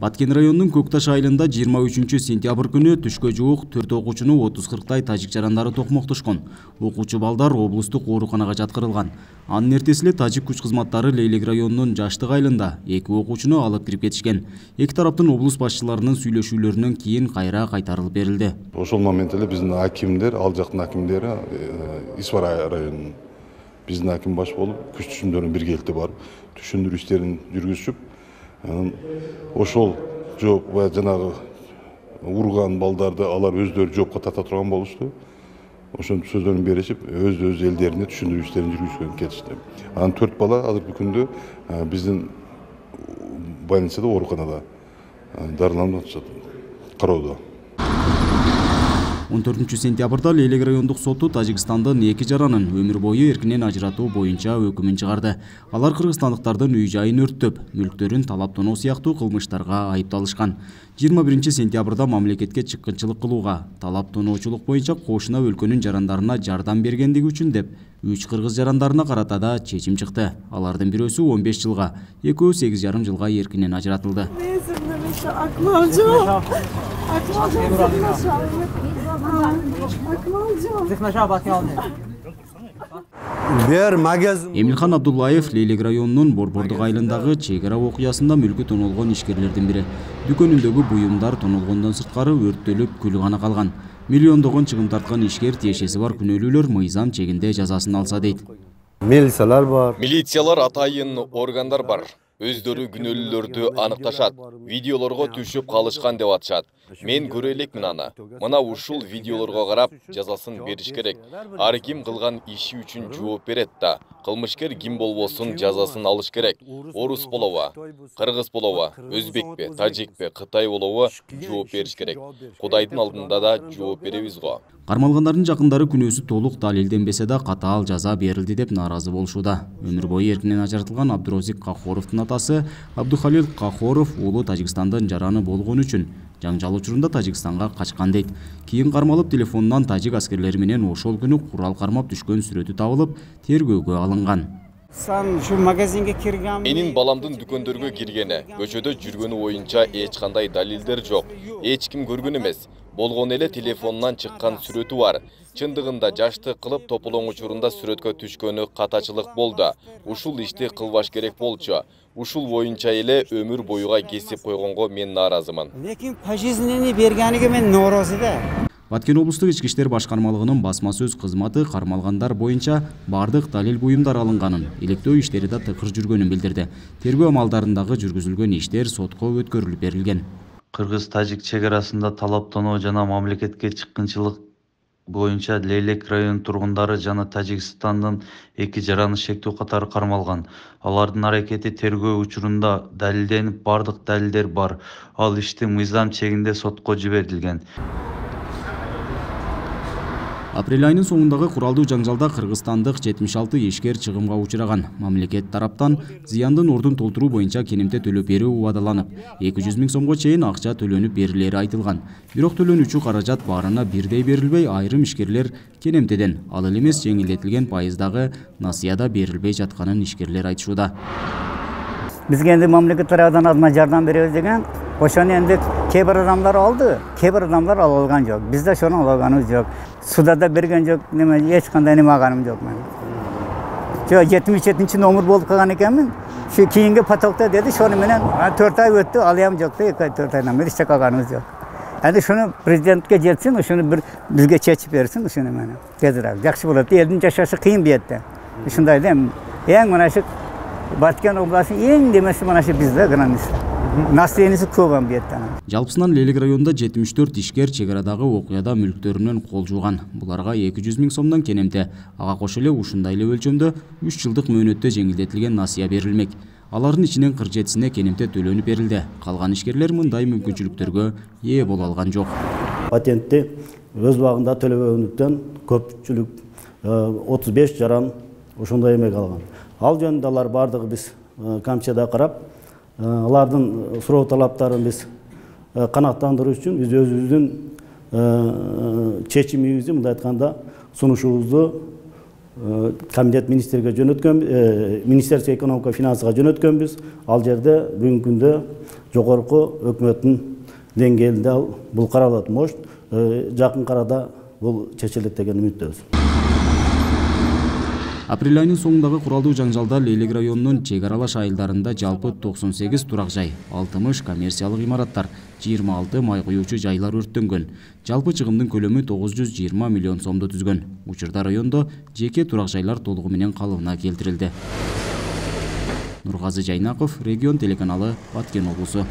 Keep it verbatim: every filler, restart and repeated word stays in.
Баткен районунун Көк Таш айылында жыйырма үчүнчү сентябрь күнү түшкө жуук төрт окуучуну отуз кырктай тажик жарандары токмоктошкон. Окуучу балдар облустук ооруканага жаткырылган. Анын эртеси эле тажик күч кызматтары Лейлек районунун Жаштык айылында эки окуучуну алып кирип кетишкен. Эки тараптын облус башчыларынын сүйлөшүүлөрүнөн кийин кайра кайтарылып берилди. Ошол момент эле биздин акимдер, ал жактын акимдери Исвара районунун биздин аким баш болуп, күч түшүндөрүн биргеликте барып, түшүндүрүү иштерин жүргүзүп, ошол жооп баягы жанагы урган балдарды алар өздөрү жоопко тарта турган болушту. Ошонун сөздөрүн беришип, өз-өз элдерине түшүндүрүү иштерин жүргүзгөн кетишти. Анан төрт бала азыркы күндө биздин больницада, ооруканада дарыланып атышат, кароодо. он төртүнчү сентябрда Лейлек райондук соту Тажикстандын эки жаранын өмүр бою эркинен ажыратуу боюнча өкүмүн чыгарды. Алар кыргызстандыктардын үй жайын өрттөп, мүлктөрүн талап тоноо сыяктуу кылмыштарга айыпталышкан. жыйырма биринчи сентябрда мамлекетке чыккынчылык кылууга, талап тоноочулук боюнча кошуна өлкөнүн жарандарына жардам бергендиги үчүн деп үч кыргыз жарандарына карата да чечим чыкты. Алардын бирөөсү он беш жылга, экөө сегиз жарым жылга эркинен ажыратылды. Эмилхан Абдуллаев Лейлек районунун Борбордук айылындагы чек ара окуясында мүлкү тонолгон ишкерлердин бири. Дүкөнүндөгү буюмдар тонолгондон сырткары өрттөлүп, күлү гана калган. Миллиондогон чыгым тарткан ишкер тиешеси бар күнөөлүүлөр мыйзам чегинде жазасын алса дейт. Милициялар бар. Милициялар атайын органдар бар. Өздөрү күнөөлүүлөрдү аныкташат, видеолорго түшүп калышкан деп атышат. Мен көрө элекмин аны. Мына ушул видеолорго карап жазасын бериш керек. Ар ким кылган иши үчүн жооп берет да. Кылмышкер ким болбосун жазасын алыш керек. Орус болобу, кыргыз болобу, өзбекпи, тажикпи, кытай болобу жооп бериш керек. Кудайдын алдында да жооп беребиз го. Кармалгандардын жакындары күнөөсү толук далилденбесе да катаал жаза берилди деп нааразы болушууда. Өмүр бою эркинен ажыратылган Абдурозик Кахоровдун атасы Абдухалил Кахоров уулу Тажикстандын жараны болгон үчүн жаңжал учурунда Тажикстанга качкан дейт. Кийин кармалып телефонунан тажик аскерлери менен ошол күнү курал кармап түшкөн сүрөтү табылып, тергөөгө алынган. Менин баламдын дүкөндөргө киргени, көчөдө жүргөнү боюнча эч кандай далилдер жок. Эч ким көргөн эмес. Болгон эле телефонунан чыккан сүрөтү бар. Чындыгында жаштык кылып тополоң учурунда сүрөткө түшкөнү катачылык болду. Ушул ишти кылбаш керек болчу. Ушул боюнча эле өмүр боюга кесип койгонго мен нааразымын. Лекин пожизненный бергениге мен нааразы да. Баткен облустук ички иштер башкармалыгынын басма сөз кызматы кармалгандар боюнча бардык далил буюмдар алынганын, иликтөө иштери да тыкыр жүргөнүн билдирди. Тергөө амалдарындагы жүргүзүлгөн иштер сотко өткөрүлүп берилген. Кыргыз-тажик чек арасында талап тоноо жана мамлекетке чыккынчылык боюнча Лейлек районунун тургундары жана Тажикстандын эки жараны шектүү катары кармалган. Алардын аракети тергөө учурунда далилденип, бардык далилдер бар. Ал ишти мыйзам чегинде сотко жиберилген. Апрель айынын соңундагы куралдуу жаңжалда кыргызстандык жетимиш алты ишкер чыгымга учураган. Мамлекет тараптан зыяндын ордун толтуруу боюнча кенемте төлөп берүү убадаланып, эки жүз миң сомго чейин акча төлөнүп берилери айтылган. Бирок төлөнүүчү каражат баарына бирдей берилбей, айрым ишкерлер кенемтеден, ал эле эмес жеңилдетилген пайыздагы насыяда берилбей жатканын ишкерлер айтышууда. Бизге энди мамлекет тарабынан азма жардам беребиз деген, ошону энди кээ бир адамдар алды, кээ бир адамдар ала алган жок. Биз да ошону ала алганыбыз жок. Суда да берген жок, неме эч кандай неме алганым жок мен. Жок, жетимиш жетинчи номер болуп калган экенмин. Şu keyingi patokta dedi, şunu menen төрт ай өттү, алыям жок да, эки ай төрт айдан бери эч калганыбыз жок. Эndi şunu президентке жетсин, şunu bir бизге чечип берсин, şunu менен. Тезирээк, жакшы болот. Элдин жашашы кыйын бу жерде. Ушундай да, эң мына şu Баткен областы эң демеси мына şu бизде граница. Населениеси көп ам бу жерде. Жалпысынан Лейлек районунда жетимиш төрт ишкер чек арадагы окуяда мүлктөрүнөн кол жууган. Буларга эки жүз миң сомдон кенемте, ага кошо эле ушундай эле өлчөмдө үч жылдык мөөнөттө жеңилдетилген насыя берилмек. Алардын ичинен кырк жетисине кенемте төлөнүп берилди. Калган ишкерлер мындай мүмкүнчүлүктөргө ээ боло алган жок. Патентти өз убагында төлөбөгөндүктөн көпчүлүк отуз беш жаран ошондой эмек алган. Ал жөнүндө алар бардыгы биз камчада карап, алардын суроо талаптарын биз канааттандыруу үчүн биз өзүбүздүн чечимибизди, мындай айтканда, сунушубузду комитет министрге жөнөткөн, Министерство экономика финансыга жөнөткөнбүз. Ал жерде бүгүнкү күндө жогорку өкмөттүн деңгээлинде бул каралат. Может, жакын арада бул чечилет деген үмүттөбүз. Апрель айынын соңундагы куралдуу жаңжалда Лейлек районунун чек аралаш айылдарында жалпы токсон сегиз турак жай, алтымыш коммерциялык имараттар, жыйырма алты май куюучу жайлар өрттөнгөн. Жалпы чыгымдын көлөмү тогуз жүз жыйырма миллион сомду түзгөн. Учурда райондо жеке турак жайлар толугу менен калыбына келтирилди. Нургазы Жайнаков, Регион телеканалы, Баткен облусу.